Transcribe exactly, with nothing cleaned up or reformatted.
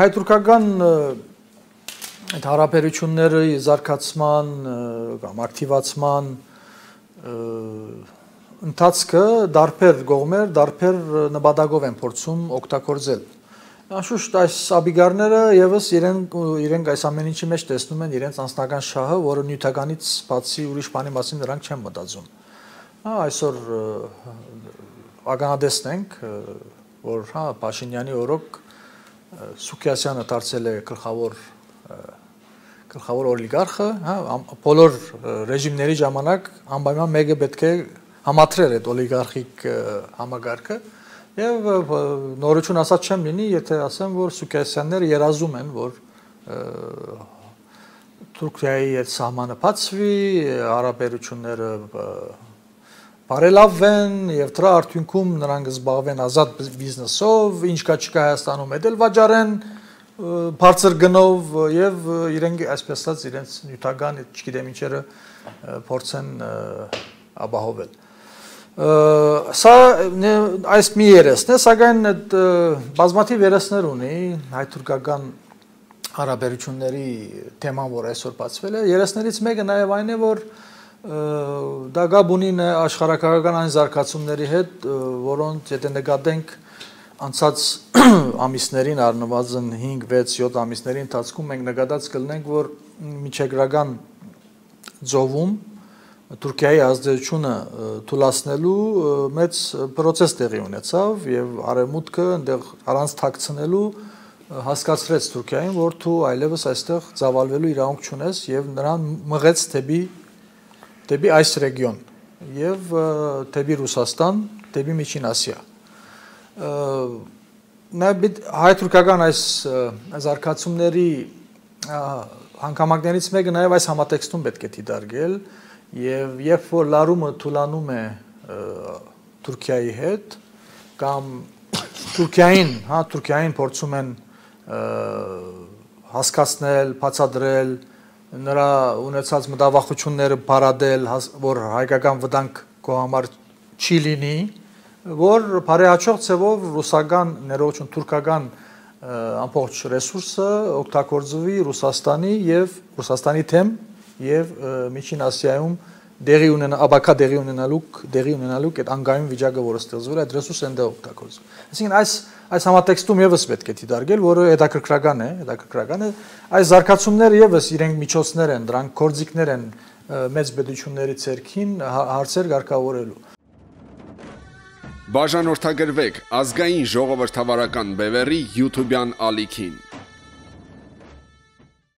Հայ-թուրքական այդ հարաբերությունների զարգացման կամ ակտիվացման ընթացքը դարբեր կողմեր, դարբեր նպատակով են փորձում օգտագործել։ Անշուշտ այս աբիգարները եւս իրենք իրենք այս ամեն ինչի մեջ տեսնում են իրենց անձնական շահը, որը նյութականից բացի ուրիշ բանի մասին նրանք չեն մտածում։ Այսօր ականատեսն ենք, որ հա Փաշինյանի օրոք Սուքիասյանը դարձել է գլխավոր գլխավոր օլիգարխը, հա, բոլոր ռեժիմների ժամանակ անպայման մեկը պետք է համադրել այդ օլիգարխիկ համագարկը եւ նորություն ասած չեմ լինի, եթե ասեմ, որ Սուքիասյանները երազում են, որ Թուրքիայի այդ սահմանը բացվի, հարաբերությունները բարելավվեն եւ դրա արդյունքում նրանք զբաղվեն ազատ բիզնեսով, ինչ կա չկա Հայաստանում էլ վաճառեն բարձր գնով եւ իրենք այսպես ասած իրենց նյութական, չգիտեմ ինչերը փորձեն ապահովել։ Սա այս մի երեսն է, սակայն այդ բազմաթիվ երեսներ ունի հայ-թուրքական հարաբերությունների թեման, որ այսօր բացվել է։ Երեսներից մեկը նաեւ այն է, որ դա գաբ ունի աշխարհակաղակական այն զարգացումների հետ, որոնց եթե նկատենք անցած ամիսներին առնվազն հինգ վեց յոթ ամիսների ընթացքում մենք նկատած կլինենք, որ միջերկրական ծովում Թուրքիայի ազդեցությունը թուլացնելու մեծ process տեղի ունեցավ եւ արևմուտքը այնտեղ առանց թաքցնելու հասկացրեց Թուրքիային, որ դու այլևս այստեղ ծավալվելու իրավունք չունես եւ նրան մղեց դեպի դեպի այս ռեգիոն եւ դեպի Ռուսաստան, դեպի Միջին Ասիա։ Նաեւ հայ-թուրքական այս զարգացումների հանգամանքներից մեկը նաեւ այս համատեքստում պետք է դիտարկել եւ երբ որ լարումը թուլանում է Թուրքիայի հետ կամ Թուրքիային, հա, Թուրքիային փորձում են հասկացնել, բացատրել նրա ունեցած մտավախությունները բարադել, որ հայկական վտանգ քո համար չի լինի, որ բարեհաճող ցևով ռուսական ներողություն թուրքական ամբողջ ռեսուրսը օգտագործվի Ռուսաստանի եւ Ռուսաստանի թեմ եւ Միջին Ասիայում դեղի ունենա աբակա դեղի ունենալու դեղի ունենալու այդ անգայուն վիճակը, որը ստեղծվել է, այդ ռեսուրսը այնտեղ օգտագործվում։ Այսինքն այս այս համատեքստում եւս պետք է դիտարկել, որը հետաքրքրական է, հետաքրքրական է, այս զարգացումները եւս իրենք միջոցներ են, դրանք կորձիկներ են մեծ պետությունների ցերքին հարցեր ղեկավարելու։ Բաժանորդագրվեք ազգային ժողովրդավարական բևեռի YouTube-յան ալիքին։